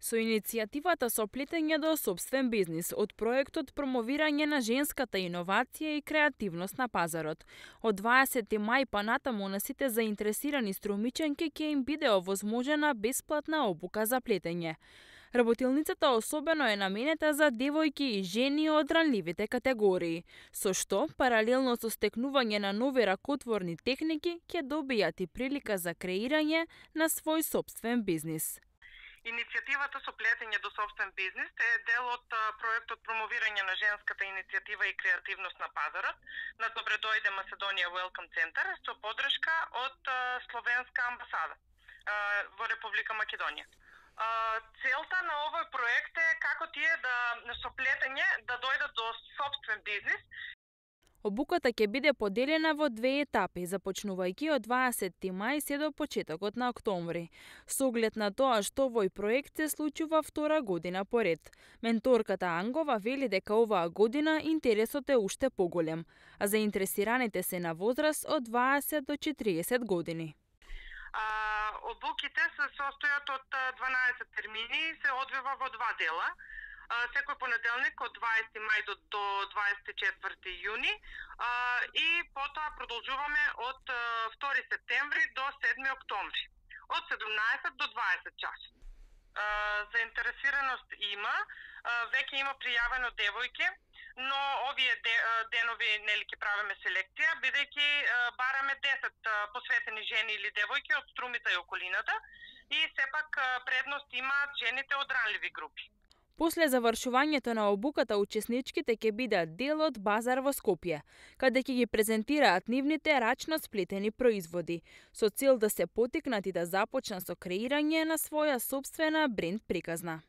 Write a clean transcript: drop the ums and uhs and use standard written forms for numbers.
Со иницијативата со плетење до сопствен бизнис од проектот промовирање на женската иновација и креативност на пазарот. Од 20 мај па натаму на сите заинтересирани струмиченки ќе им биде овозможена бесплатна обука за плетење. Работилницата особено е наменета за девојки и жени од ранливите категории, со што, паралелно со стекнување на нови ракотворни техники, ќе добијат и прилика за креирање на свој сопствен бизнис. Иницијативата со плетење до сопствен бизнис е дел од проектот промовирање на женската иницијатива и креативност на пазарот на Добре дојде Македонија Welcome Center со поддршка од Словенска амбасада во Република Македонија. Целта на овој проект е како тие со плетење да дојдат до сопствен бизнис. Обуката ќе биде поделена во две етапи, започнувајќи од 20 мај се до почетокот на октомври. Со оглед на тоа што овој проект се случува втора година поред. Менторката Ангова вели дека оваа година интересот е уште поголем, а заинтересираните се на возраст од 20 до 40 години. Обуките се состојат од 12 термини и се одвива во два дела. Секој понеделник од 20 мај до 24 јуни и потоа продолжуваме од 2 септември до 7 октомври од 17 до 20 часот. Заинтересираност има, веќе има пријавено девојки, но овие денови нели ќе правиме селекција, бидејќи бараме 10 посветени жени или девојки од Струмица и околината и сепак предност имаат жените од ранливи групи. После завршувањето на обуката, учесничките ќе бидат дел од базар во Скопје, каде ќе ги презентираат нивните рачно сплетени производи, со цел да се поттикнат и да започнат со креирање на своја сопствена бренд приказна.